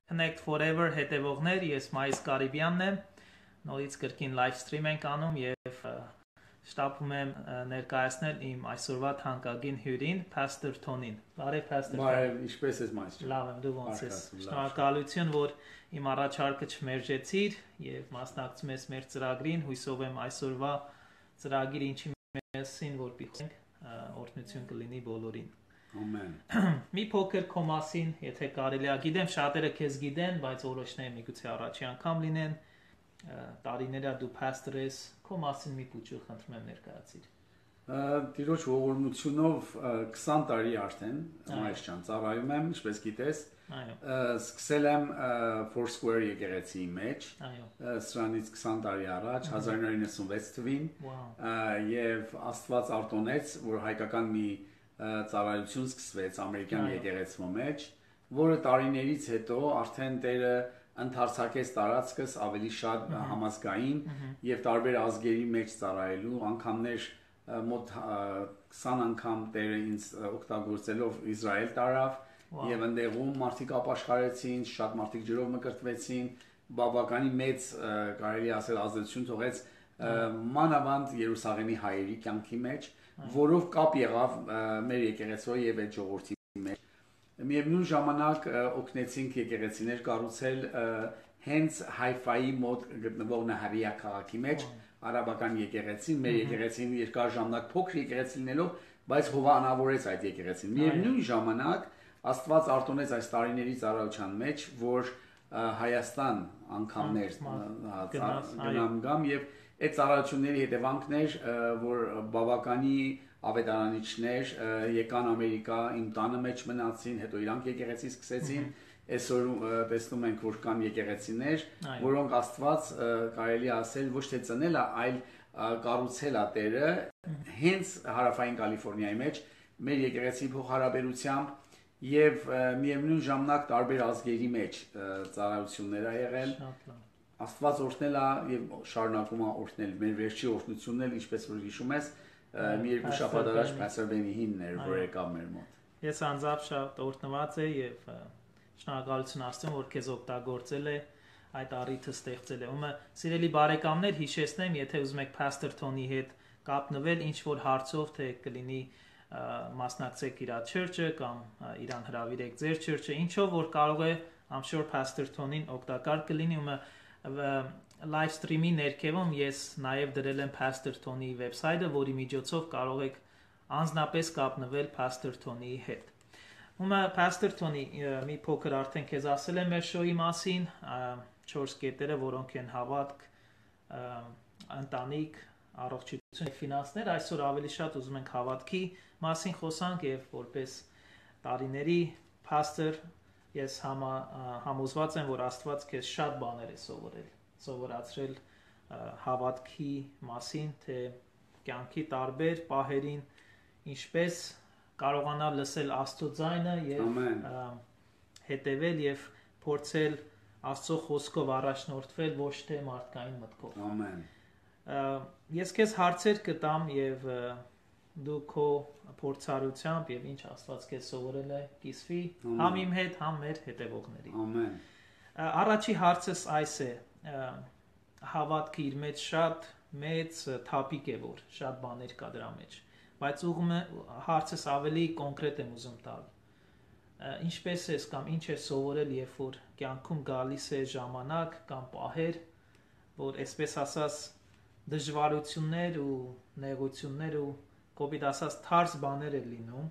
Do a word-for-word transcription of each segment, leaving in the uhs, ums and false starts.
Connect Forever հետևողներ, ես Մայիս Կարիբյանն եմ, նորից կրկին live stream ենք անում և շտապում եմ ներկայացնել իմ այսօրվա թանկագին հյուրին, Pastor Թոնին։ Բարև Pastor Թոն։ Բարև, ինչպես ես Մայիս ջան։ Լավ եմ, դու ոնց ես։ Շնորհակալություն, որ իմ առաջարկը չմերժեցիր և մասնակցում ես մեր ծրագրին, հույսով եմ այսօրվա ծրագիր ինչի մասին, որպեսզի օրհնություն կլինի բոլորին։ Ամեն։ Մի փոքր քո մասին, եթե կարելի է, գիտեմ շատերը քեզ գիտեն, բայց որոշները միգուցե առաջի անգամ լինեն, տարիներ է դու pastor ես, քո մասին մի փոքր խնդրում եմ ներկայացիր։ Տիրոջ ողորմությունով քսան տարի արդեն Մայիս ջան ծառայում եմ, ինչպես գիտես։ Այո։ Սկսել եմ Foursquare եկեղեցիի մեջ։ Այո։ Սրանից քսան տարի առաջ, հազար նորը իննսունվեց թվին, եւ Աստված արտոնեց, որ հայկական մի ծառայություն սկսվեց ամերիկյան եկեղեցու մեջ, որը տարիներից հետո արդեն Տերը ընդարձակեց տարածքս ավելի շատ համազգային եւ տարբեր ազգերի մեջ ծառայելու, անգամներ մոտ քսան անգամ Տերը ինձ օգտագործելով Իսրայել տարավ եւ այնտեղում մարդիկ ապաշխարեցին, շատ մարդիկ ջրով մկրտվեցին, բավականին մեծ կարելի ասել ազդեցություն թողեց մանավանդ Երուսաղեմի հայերի կյանքի մեջ, որով կապ եղավ մեր եկեղեցու եւ այդ ժողովրդի մեջ։ Միևնույն ժամանակ օգնեցինք եկեղեցիներ կառուցել հենց Հայֆայի մոտ գտնվող Նահարիա քաղաքի մեջ, արաբական եկեղեցին, մեր եկեղեցին երկար ժամանակ փոքր եկեղեցի լինելով, բայց հովանավորեց այդ եկեղեցին։ Միևնույն ժամանակ Աստված արտոնեց այս տարիների ծառայության մեջ, որ Հայաստան անգամներ գնամ գամ եւ այդ ծառայությունների հետևանքներ, որ բավականի ավետարանիչներ եկան Ամերիկա, իմ տանը մեջ մնացին, հետո իրանք եկեղեցի սկսեցին, այսօր տեսնում ենք, որ կան եկեղեցիներ, որոնք Աստված կարելի ասել ոչ թե ծնել է, այլ կառուցել է Տերը հենց հարավային Կալիֆոռնիայի մեջ մեր եկեղեցի փոխհարաբերությամբ եւ միևնույն ժամանակ տարբեր ազգերի մեջ ծառայություններ ա եղել։ Աստված օրհնել է եւ շարունակում է օրհնել։ Մեր վերջի օրհնությունն էլ, ինչպես որ հիշում ես, մի երկու շաբաթ առաջ Pastor Բենիհինն էր, որ եկավ մեր մոտ։ Ես անձամբ շատ օրհնված եմ եւ շնորհակալություն ասեմ, որ քեզ օգտագործել է այդ առիթը ստեղծել է։ Ումը սիրելի բարեկամներ, հիշեցնեմ, եթե ուզում եք Pastor Թոնի հետ կապնվել ինչ որ հարցով, թե կլինի մասնակցեք իր church-ը կամ իրան հրավիրեք ձեր church-ը, ինչով որ կարող է, I'm sure Pastor Թոնին օգտակար կլինի։ Ումը live stream-ի ներքևում ես նաև դրել եմ Pastor Թոնի վեբսայթը, որի միջոցով կարող եք անձնապես կապնվել Pastor Թոնի հետ։ Ումը Pastor Թոնի մի փոքր արդեն քեզ ասել եմ մեր շոուի մասին, չորս կետերը, որոնք են հավատք, ընտանիք, առողջություն, ֆինանսներ, այսօր ավելի շատ ուզում ենք հավատքի մասին խոսանք եւ որպես տարիների pastor ես համա, համոզված եմ, որ Աստված քեզ շատ բաներ է սովորել, սովորացրել հավատքի մասին, թե կյանքի տարբեր պահերին ինչպես կարողանալ լսել Աստծո ձայնը եւ հետևել եւ փորձել Աստծո խոսքով առաջնորդվել ոչ թե մարդկային մտքով։ Ամեն։ Ես քեզ հարցեր կտամ եւ դու քո փորձառությամբ եւ ինչ Աստված քեզ սովորել է կիսվի համ իմ հետ, համ մեր հետևողների։ Ամեն։ Առաջի հարցս այս է. հավատքը իր մեջ շատ մեծ թափիկ է, որ շատ բաներ կա դրա մեջ, բայց ուղղումը հարցս ավելի կոնկրետ եմ ուզում տալ։ Ինչպես ես կամ ինչ ես սովորել, երբ որ կյանքում գալիս է ժամանակ կամ պահեր, որ այսպես ասած դժվարություններ ու նեղություններ ու կոպիտ ասած թարս բաներ են լինում,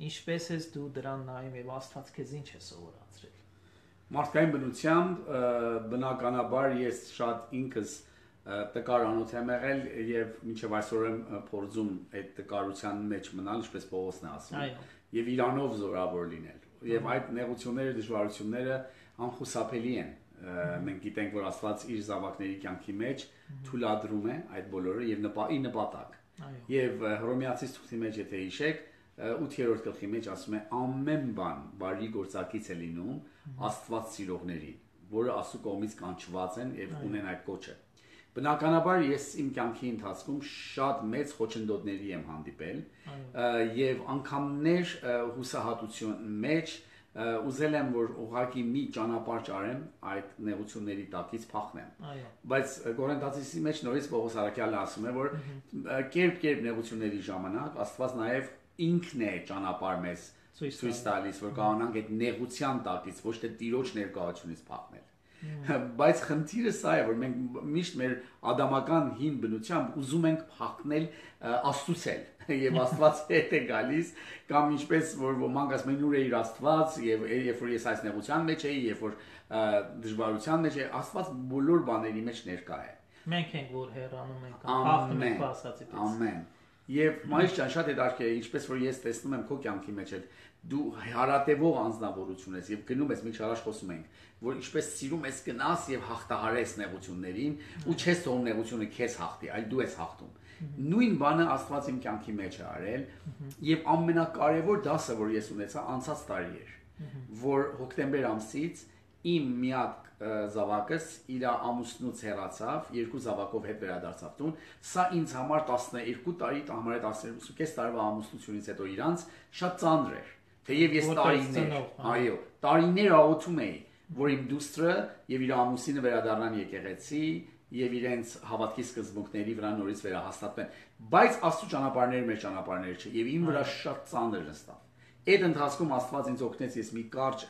ինչպես ես դու դրան նայում եւ Աստված քեզ ինչ է սովորացրել։ Մարդկային բնությամբ բնականաբար ես շատ ինքս տկար անոթ եմ եղել եւ մինչեւ այսօր եմ փորձում այդ տկարության մեջ մնալ, ինչպես Պողոսն է ասում, եւ իրանով զորավոր լինել։ Եվ այդ նեղությունները, դժվարությունները անխուսափելի են։ Մենք գիտենք, որ Աստված իր զավակների կյանքի մեջ թույլատրում է այդ բոլորը եւ նպատի նպատակ։ Եվ Հռոմեացիս թուղթի մեջ եթե հիշեք, ութերորդ գլխի մեջ ասում է ամեն բան բարի գործակից է լինում Աստված սիրողներին, որը Աստծո կողմից կանչված են եւ ունեն այդ կոչը։ Բնականաբար ես իմ կյանքի ընթացքում շատ մեծ խոչընդոտների եմ հանդիպել եւ անգամներ հուսահատություն մեջ ուզել եմ որ ուղղակի մի ճանապարհ ճարեմ այդ նեղությունների տակից փախնեմ։ Այո։ Բայց Կորինթացիների մեջ նորից Պողոս Արաքյալը ասում է, որ կերպ-կերպ նեղությունների ժամանակ Աստված նաև ինքն է ճանապարհ մեզ ցույց տալիս, որ կարողանանք այդ նեղության տակից ոչ թե Տիրոջ ներկայությունից փախնել։ Բայց խնդիրը սա է, որ մենք միշտ մեր ադամական հին բնությամբ ուզում ենք փախնել Աստծուց եւ Աստված հետ է գալիս, կամ ինչպես որ ոմանք ասում են ուր է իր Աստված եւ երբ որ ես այս նեղության մեջ էի, երբ որ դժվարության մեջ էի, Աստված բոլոր բաների մեջ ներկա է։ Մենք ենք որ հեռանում ենք, փախնում ենք ասածից։ Ամեն։ Եվ մայր ջան շատ հետաքրքիր է, ինչպես որ ես տեսնում եմ քո կյանքի մեջ էլ դու հարատևող անձնավորություն ես եւ գնում ես, մենք շարաշ խոսում ենք, որ ինչպես սիրում ես գնաս եւ հաղթահարես նեղություններին ու չես թողնում նեղությունը քեզ հաղթի, այլ դու ես հաղթում։ Նույն բանը Աստված իմ կյանքի մեջ է արել եւ ամենակարևոր դասը, որ ես ունեցա անցած տարի էր, որ հոկտեմբեր ամսից իմ միակ զավակս իր ամուսնուց հեռացավ, երկու զավակով հետ վերադարձավ տուն։ Սա ինձ համար տասներկու տարի, համար է տասներկու կես տարվա ամուսնությունից հետո իրանց շատ ծանր էր։ Թեև ես տարիներ, այո, տարիներ աղոթում էի, որ իմ դուստրը եւ իր ամուսինը վերադառնան եկեղեցի եւ իրենց հավատքի սկզբունքների վրա նորից վերահաստատվեն, բայց Աստծո ճանապարհները մեր ճանապարհները չէ եւ իմ վրա շատ ծանր նստավ։ Այդ ընթացքում Աստված ինձ օգնեց, ես մի կարճ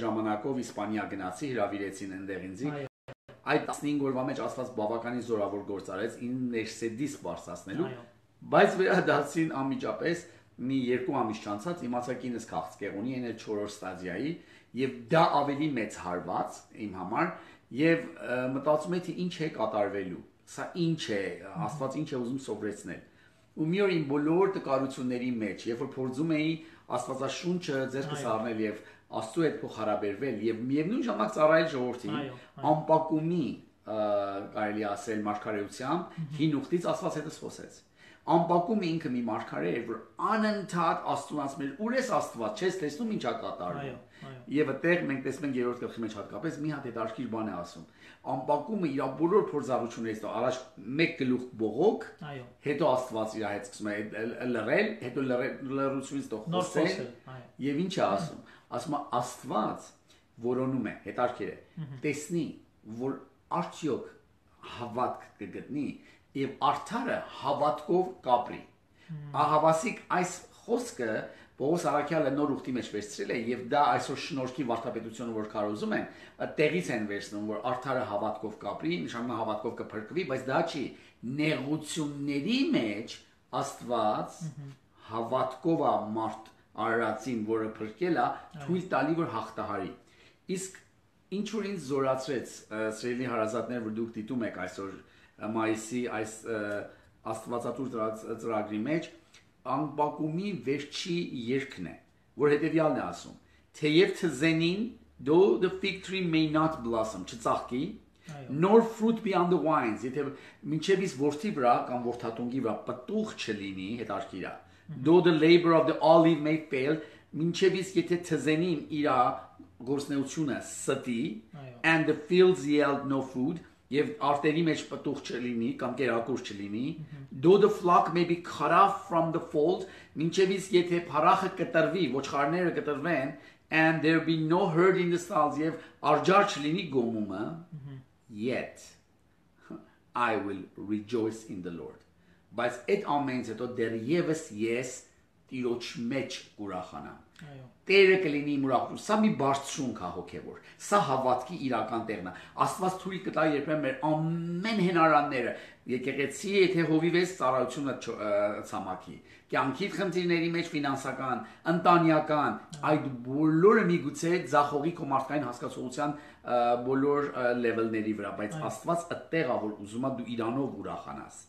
ժամանակով Իսպանիա գնացի, հրավիրեցին այնտեղ ինձ։ Այդ տասնհինգ օրվա մեջ Աստված բավականին զորավոր գործ արեց ինձ ներսեդիս բարձրացնելու, բայց վերադարձին անմիջապես մի երկու ամիս չանցած իմացա կինս քաղցկեղ ունի, այն էլ չորրորդ ստադիայի, եւ դա ավելի մեծ հարված իմ համար, եւ մտածում եի թե ինչ է կատարվելու, սա ինչ է, Աստված ինչ է ուզում սովորեցնել։ Ու մի օր իմ բոլոր տկարությունների մեջ, երբ որ փորձում էի Աստվածաշունչը ձեռքս առնել եւ Աստծո հետ փոխհարաբերվել եւ միևնույն ժամանակ ծառայել ժողովրդին, անպակումի կարելի ասել մարգարեությամբ հին ուխտից Աստված հետս խոսեց։ Անպակում ինքը մի մարգարե էր, որ անընդհատ Աստծուն ասում էր՝ «Ուր ես Աստված, չես տեսնում ինչա կատարվում»։ Եվ այդտեղ մենք տեսնում ենք երրորդ գլխի մեջ հատկապես մի հատ հետաքրքիր բան է ասում։ Անպակումը իր բոլոր փորձառություններից հետո առաջ մեկ գլուխ բողոք, հետո Աստված իր հետ սկսում է լռել, հետո լռությունից հետո խոսել, եւ ինչ է ասում։ Ասում է Աստված որոնում է, հետաքրքիր է, տեսնի, որ արդյոք հավատք կգտնի եւ արդարը հավատքով կապրի։ Ահավասիկ այս խոսքը Պողոս Արաքյալը նոր ուխտի մեջ վերցրել է եւ դա այսօր շնորհքի վարդապետությունը որ կարոզում են, տեղից են վերցնում, որ արդարը հավատքով կապրի, նշանակում հավատքով կփրկվի, բայց դա չի, նեղությունների մեջ Աստված հավատքով է մարդ արարածին, որը փրկել է, թույլ տալի որ հաղթահարի։ Իսկ ինչ որ ինձ զորացրեց, սիրելի հարազատներ, որ դուք դիտում եք այսօր մայիսի այս աստվածատուր ծրագրի մեջ, անպակումի վերջի երգն է, որ հետևյալն է ասում. թեև թզենին, though the fig tree may not blossom, չծաղկի, nor fruit be on the vines, եթե մինչև իսկ որդի վրա կամ որդատունգի վրա պտուղ չլինի, հետաքրքիր է, though the labor of the olive may fail, մինչև իսկ եթե թզենին իր գործունեությունը ստի, and the fields yield no food, եւ արտերի մեջ պտուղ չլինի կամ կերակուր չլինի, though the flock may be cut off from the fold, մինչև իսկ եթե փառախը կտրվի, ոչխարները կտրվեն, and there be no herd in the stalls, եւ արջար չլինի գոմումը, yet I will rejoice in the Lord. Բայց այդ ամենից հետո դեռևս ես Տիրոջ մեջ կուրախանամ։ Տերը կլինի իմ ուրախություն։ Սա մի բարձրունք է հոգևոր։ Սա հավատքի իրական տեղն է։ Աստված թույլ կտա երբեմն մեր ամեն հնարանները, եկեղեցի, եթե հովիվես ծառայությունը ցամաքի, կյանքի խնդիրների մեջ ֆինանսական, ընտանեկան, այդ բոլորը միգուցե ձախողի քո մարդկային հասկացողության բոլոր լեվելների վրա, բայց Աստված այդտեղ է, որ ուզում է դու իրանով ուրախանաս։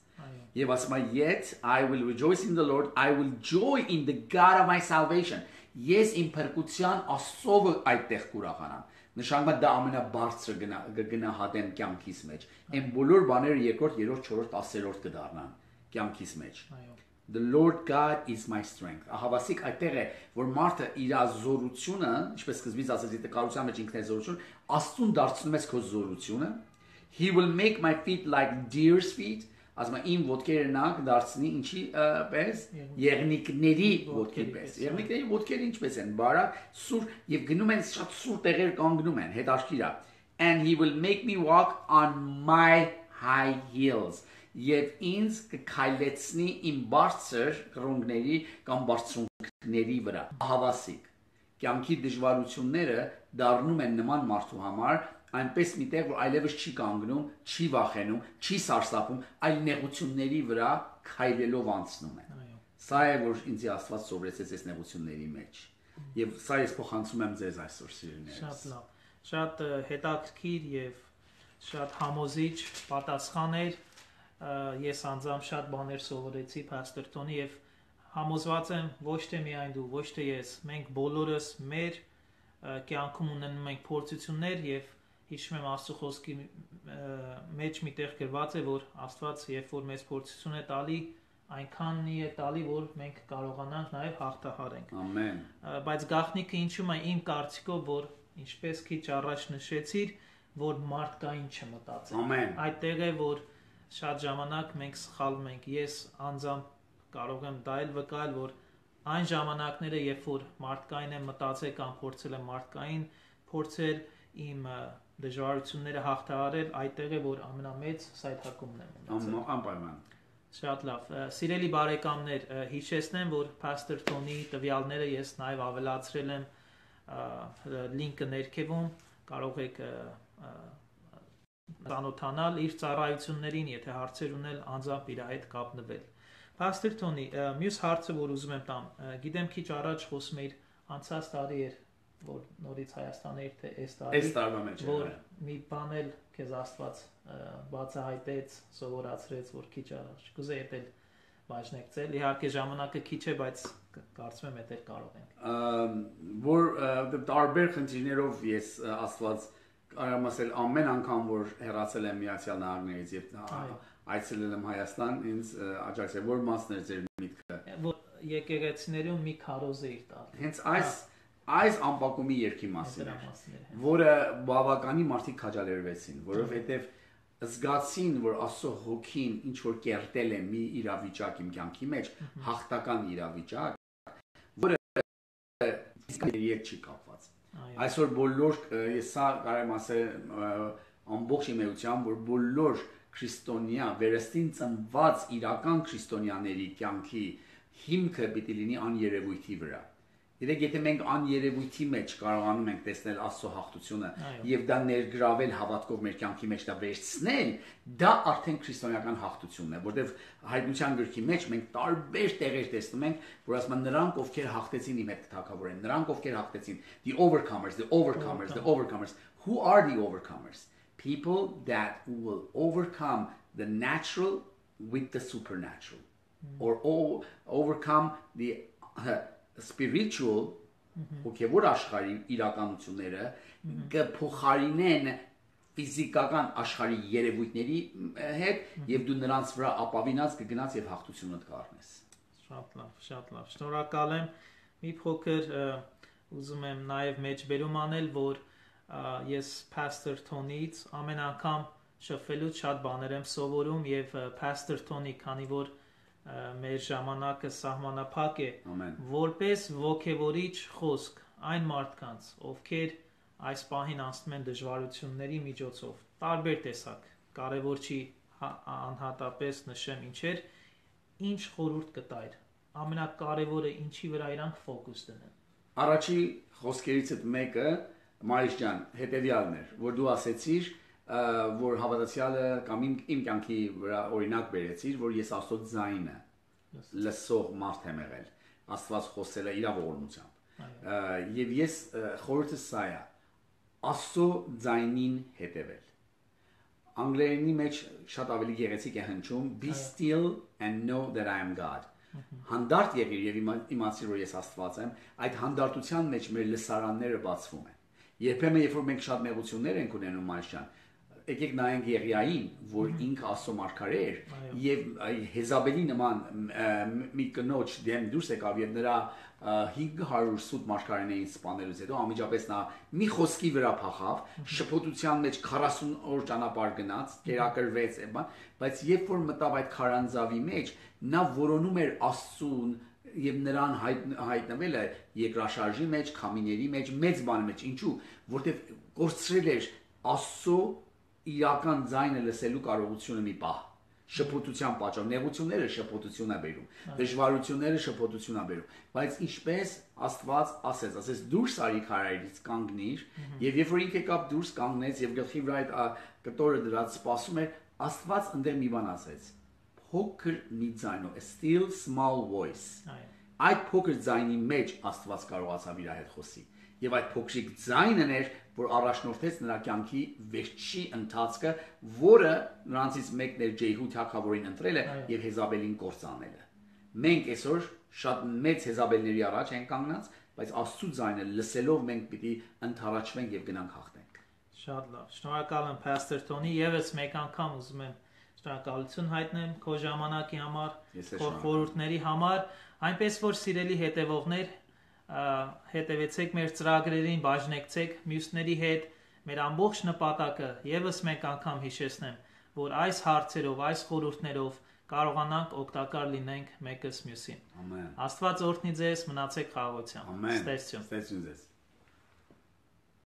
Եվ ասում է, yet I will rejoice in the Lord, I will joy in the God of my salvation. Ես իմ փրկության Աստծով այդտեղ կուրախանամ։ Նշանակում է դա ամենաբարձրը գնահատեմ կյանքիս մեջ։ Այն բոլոր բաները երկրորդ, երրորդ, չորրորդ, ասերորդ կդառնան կյանքիս մեջ։ The Lord God is my strength. Ահավասիկ այդտեղ է, որ մարդը իր զորությունը, ինչպես սկզբից ասեցի, տկարության մեջ ինքն է զորություն, Աստծուն դարձնում ես քո զորությունը. He will make my feet like deer's feet. ասում է իմ ոտքերը նա կդարձնի ինչի պես եղնիկների ոտքերի պես։ Եղնիկների ոտքերը ինչպես են, բարակ, սուր եւ գնում են շատ սուր տեղեր կանգնում են, հետաքրքիր է։ And he will make me walk on my high heels. Եվ ինձ կքայլեցնի իմ բարձր կրունկների կամ բարձրունքների վրա։ Հավասիկ։ Կյանքի դժվարությունները դառնում են նման մարդու համար այնպես մի տեղ, որ այլևս չի կանգնում, չի վախենում, չի սարսափում, այլ նեղությունների վրա քայլելով անցնում է։ Սա է, որ ինձ Աստված սովորեցեց այս նեղությունների մեջ։ Եվ սա ես փոխանցում եմ ձեզ այսօր սիրելիներս։ Շատ լավ։ Շատ հետաքրքիր եւ շատ համոզիչ պատասխան էր։ Ես անձամբ շատ բաներ սովորեցի Pastor Tony եւ համոզված եմ ոչ թե միայն դու, ոչ թե ես, մենք բոլորս մեր կյանքում ունենում ենք փորձություններ եւ հիշում եմ Աստծո խոսքի մեջ միտեղ գրված է, որ Աստված երբ որ մեզ փորձություն է տալի, այնքանի է տալի, որ մենք կարողանանք նաեւ հաղթահարենք։ Ամեն։ Բայց գաղտնիքը ինչու՞մ է իմ կարծիքով, որ ինչպես քիչ առաջ նշեցիր, որ մարդկային չմտածել։ Ամեն։ Այդտեղ է, որ շատ ժամանակ մենք սխալվում ենք։ Ես անձամբ կարող եմ դա էլ վկայել, որ այն ժամանակները, երբ որ մարդկային եմ մտածել կամ փորձել եմ մարդկային փորձել իմ դժվարությունները հաղթահարել, այդտեղ է, որ ամենամեծ սայթակումն եմ ունեցել։ Անպայման։ Շատ լավ։ Սիրելի բարեկամներ, հիշեցնեմ, որ Pastor Tony տվյալները ես նաև ավելացրել եմ լինկը ներքևում, կարող եք ծանոթանալ իր ծառայություններին, եթե հարցեր ունել, անձամբ իր հետ կապնվել։ Pastor Tony, մյուս հարցը, որ ուզում եմ տամ, գիտեմ քիչ առաջ խոսում էիր, անցած տարի էր, որ նորից Հայաստան էր, թե այս տարի։ Այս տարվա մեջ որ մի բան էլ քեզ Աստված բացահայտեց, սովորացրեց, որ քիչ առաջ կուզեի էլ բաժնեկցել։ Իհարկե ժամանակը քիչ է, բայց կարծում եմ էդ կարող ենք։ Որ տարբեր խնդիրներով ես Աստված կարամ ասել ամեն անգամ որ հեռացել եմ Միացյալ Նահանգներից եւ այցելել եմ Հայաստան, ինձ աջակցել, որ մասն էր ձեր միտքը։ Որ եկեղեցիներում մի քարոզ էիր տալ։ Հենց այս այս ամպակումի երկի մասին է, որը բավականին մարդիկ քաջալերվեցին, որովհետեւ զգացին, որ Աստծո հոգին ինչ որ կերտել է մի իրավիճակ իմ կյանքի մեջ, հաղթական իրավիճակ, որը իսկ չի կապված։ Այսօր բոլոր ես սա կարեմ ասել ամբողջ իմեյությամբ, որ բոլոր քրիստոնյա վերստին ծնված իրական քրիստոնյաների կյանքի հիմքը պիտի լինի աներևույթի վրա։ Երեք եթե մենք աներևույթի մեջ կարողանում ենք տեսնել Աստծո հաղթությունը եւ դա ներգրավել հավատքով մեր կյանքի մեջ դա վերցնել, դա արդեն քրիստոնեական հաղթությունն է, որտեղ հայտնության գրքի մեջ մենք տարբեր տեղեր տեսնում ենք, որ ասում են նրանք ովքեր հաղթեցին իմ հետ թագավորեն, նրանք ովքեր հաղթեցին, the overcomers, the overcomers, the overcomers. Who are the overcomers? People that will overcome the natural with the supernatural, mm-hmm. or o- overcome the uh, spiritual, հոգևոր աշխարհի իրականությունները կփոխարինեն ֆիզիկական աշխարհի երևույթների հետ եւ դու նրանց վրա ապավինած կգնաց եւ հաղթությունդ կառնես։ Շատ լավ, շատ լավ։ Շնորհակալ եմ։ Մի փոքր ուզում եմ նաեւ մեջբերում անել, որ ես Pastor Tony-ից ամեն անգամ շփվելուց շատ բաներ եմ սովորում եւ Pastor Tony, քանի որ մեր ժամանակը սահմանափակ է, որպես ոգևորիչ խոսք այն մարդկանց, ովքեր այս պահին անցնում են դժվարությունների միջոցով, տարբեր տեսակ, կարևոր չի անհատապես նշեմ ինչեր, ինչ խորհուրդ կտայր, ամենակարևորը ինչի վրա իրանք ֆոկուս դնեն։ Առաջի խոսքերից մեկը, Մարիշ ջան, հետեւյալն էր, որ դու ասեցիր, որ հավատացյալը կամ իմ իմ կյանքի վրա օրինակ բերեցիր, որ ես Աստծո ձայնը լսող մարդ եմ եղել, Աստված խոսել է իր ողորմությամբ։ Եվ ես խորհուրդս սա է, Աստծո ձայնին հետևել։ Անգլերենի մեջ շատ ավելի գեղեցիկ է հնչում be still and know that I am God։ Հանդարտ եղիր եւ իմացիր, որ ես Աստված եմ, այդ հանդարտության մեջ մեր լսարանները բացվում են։ Երբեմն երբ որ մենք շատ նեղություններ ենք ունենում, Մարշան, եկեք նայենք Եղիային, որ ինքը Աստծո մարգարե էր եւ Հեզաբելի նման մի կնոջ դեմ դուրս եկավ եւ նրա հինգ հարյուր սուտ մարգարեներին սպանելուց հետո անմիջապես նա մի խոսքի վրա փախավ, շփոթության մեջ քառասուն օր ճանապարհ գնաց, կերակրվեց, բայց երբ որ մտավ այդ քարանձավի մեջ, նա որոնում էր Աստծուն եւ նրան հայտ, հայտնվելը երկրաշարժի մեջ, քամիների մեջ, մեծ բանի մեջ, ինչու, որտեվ կորցրել էր Աստծո իրական ձայնը լսելու կարողությունը մի պահ, շփոթության պատճառով, նեղությունները շփոթություն է բերում, դժվարությունները շփոթություն է բերում, բայց ինչպես Աստված ասեց, ասեց դուրս արի քարայրից կանգնիր, եւ երբ որ ինքը կապ դուրս կանգնեց եւ գլխի վրա այդ կտորը դրած սպասում էր, Աստված ընդդեմ մի բան ասեց. փոքր մի ձայնով, a still small voice. Այդ փոքր ձայնի մեջ Աստված կարողացավ իր հետ խոսի։ Եվ այդ փոքրիկ ձայնն էր, որ առաջնորդեց նրա կյանքի վերջի ընթացքը, որը նրանցից մեկն էր Ջեհու թագավորին ընտրելը եւ Հեզաբելին կործանելը։ Մենք այսօր շատ մեծ Հեզաբելների առաջ ենք կանգնած, բայց Աստծո ձայնը լսելով մենք պիտի ընթառաջվենք եւ գնանք հաղթենք։ Շատ լավ։ Շնորհակալ եմ Pastor Tony, եւս մեկ անգամ ուզում եմ շնորհակալություն հայտնեմ քո ժամանակի համար, քո խորհուրդների համար, այնպես որ սիրելի հետևողներ, հետևեցեք մեր ծրագրերին, բաժնեկցեք մյուսների հետ, մեր ամբողջ նպատակը եւս մեկ անգամ հիշեցնեմ, որ այս հարցերով, այս խորհուրդներով կարողանանք օգտակար լինենք մեկս մյուսին։ Ամեն։ Աստված օրհնի ձեզ, մնացեք խաղաղությամբ։ Ամեն։ Ստեսություն։ Ստեսություն ձեզ։